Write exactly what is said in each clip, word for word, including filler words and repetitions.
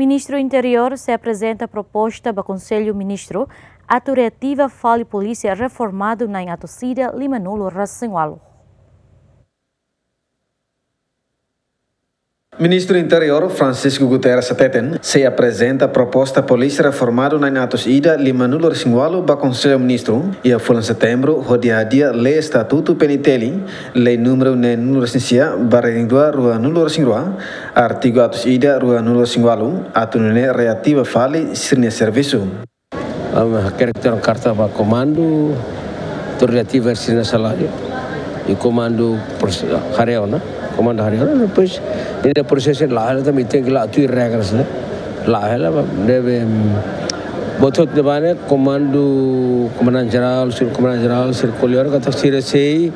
Ministru Interiór sei aprezenta proposta ba Konsellu Ministru atu reativa fali polísia reformadu na'in atus ida limanulu resin ualu. Ministru Interiór Francisco Guterres hateten sei aprezenta proposta polísia reformadu na'in atus ida limanulu resin ualu ba Konsellu Ministru iha fulan Setembru, hodi hadi'a lei estatutu P N I T L, lei númeru neenulu resin sia barra neen rua ruanulu resin rua, artigu atus ida ruanulu resin ualu, atu nune'e reativa fali sira-nia servisu. Ami hakerek tiha ona karta ba komandu, atu reativa sira-nia saláriu, i komandu proses-, haree ona, komandu haree ona, depois ida prosesu la'o hela, tanba tenke la'o tuir regras ne'e. La'o hela, ba, deve, mm, buat hotu ne'ebá ne'e, komandu, komandante jerál, subkomandante jerál, sira ko'alia ona katak sira sei,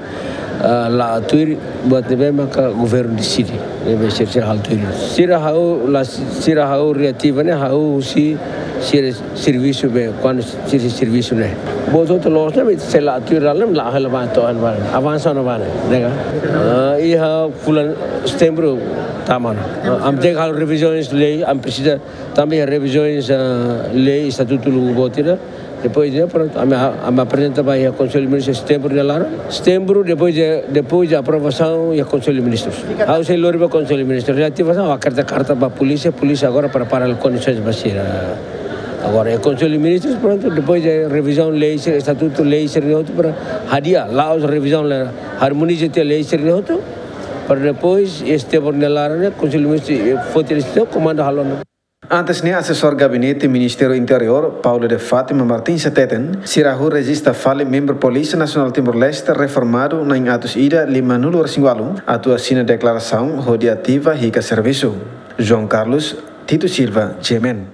ah, la'o tuir buat ne'ebé maka governu deside, ne'ebé sira, sira halo tuir. Sira ha'u la, sira ha'u reativa ne'e, ha'u sei, sira servisu be, kuandu sira servisu ne'e. Buat hotu loos ne'e, ami sei la'o tuir hela, la'o hela ba to'o ba, avansa ona ba ne'e, nega. Ah, iha fulan Setembru tama ona. Ah, ami tenke halo revizaun lei, ami presiza tanba iha revizaun, ah, lei estatutu lubuk boot ida. Depois de, prontu, ami, ami aprezenta ba iha Konsellu Ministru Setembru nia laran. Setembru, depois de, depois de aprovasaun iha Konsellu Ministrus. Ha'u sei lori ba Konsellu Ministru. Reativasaun, ha'u hakerek tiha karta ba polísia, polísia agora para prepara kondisoens ba sira. Agora, iha Konsellu Ministrus, prontu, depois de revizaun lei sira, estatutu lei sira-ne'e hotu para hadi'a, la'ós revizaun la, harmoniza tiha lei sira-ne'e hotu, para depois, iha Setembru nia laran ne'e, Konsellu Ministru, eh, foti desizia, komandu halo ona. Antes ne'e, asesór gabinete Ministériu Interiór, Paulo de Fátima Martins hateten, sira hahú rejista fali membru Polísia Nasionál Timor-Leste reformadu na'in atus ida limanulu resin ualu, atu asina deklarasaun hodi ativa hikas servisu. João Carlos Tito Silva, G M N.